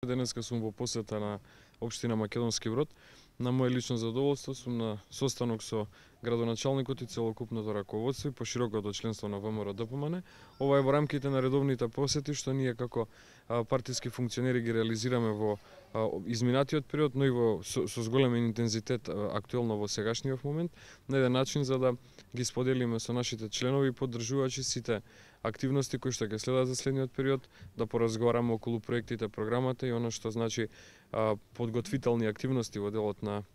Денеска сум во посета на општина Македонски Брод. На моје лично задоволство сум на состанок со градоначалникот и целокупното раководство и поширокото членство на ВМРО-ДПМН. Ова е во рамките на редовните посети што ние како партиски функционери ги реализираме во изминатиот период, но и со зголемен интензитет актуелно во сегашниот момент, на еден начин за да ги споделиме со нашите членови и поддржувачи сите активности кои што ќе следат за следниот период, да поразговараме околу проектите, програмата и она што значи подготвителни активности во делот на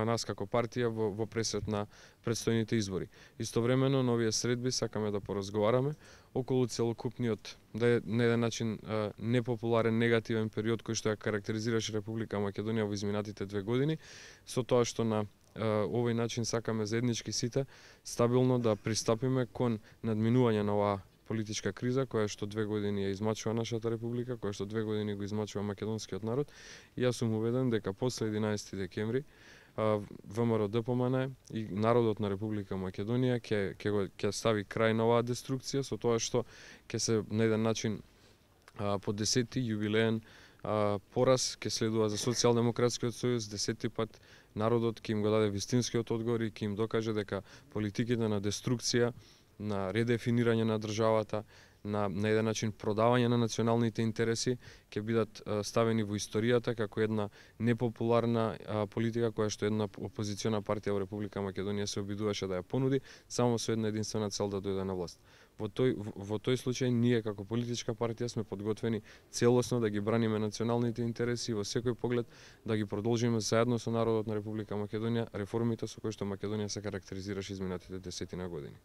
нас како партија во пресет на претстојните избори. Истовремено, на овие средби сакаме да поразговараме околу целокупниот, да е на еден начин непопуларен, негативен период кој што ја карактеризираше Република Македонија во изминатите 2 години, со тоа што на овој начин сакаме заеднички сите стабилно да пристапиме кон надминување на оваа политичка криза која што 2 години ја измачува нашата република, која што 2 години го измачува македонскиот народ. И јас сум убеден дека после 11 декември ВМРО-ДПМН и народот на Република Македонија ќе стави крај на оваа деструкција со тоа што ќе се на еден начин по 10-ти јубилеен пораз ќе следува за Социјалдемократскиот сојуз, 10-ти пат народот ќе им го даде вистинскиот одговор и ќе им докаже дека политиките на деструкција, на редефинирање на државата, на еден начин продавање на националните интереси ќе бидат ставени во историјата како една непопуларна политика која што една опозициона партија во Република Македонија се обидуваше да ја понуди само со една единствена цел да дојде на власт. Во тој случај ние како политичка партија сме подготвени целосно да ги браниме националните интереси и во секој поглед да ги продолжиме заедно со народот на Република Македонија реформите со кои што Македонија се карактеризираше изминатите 10 години.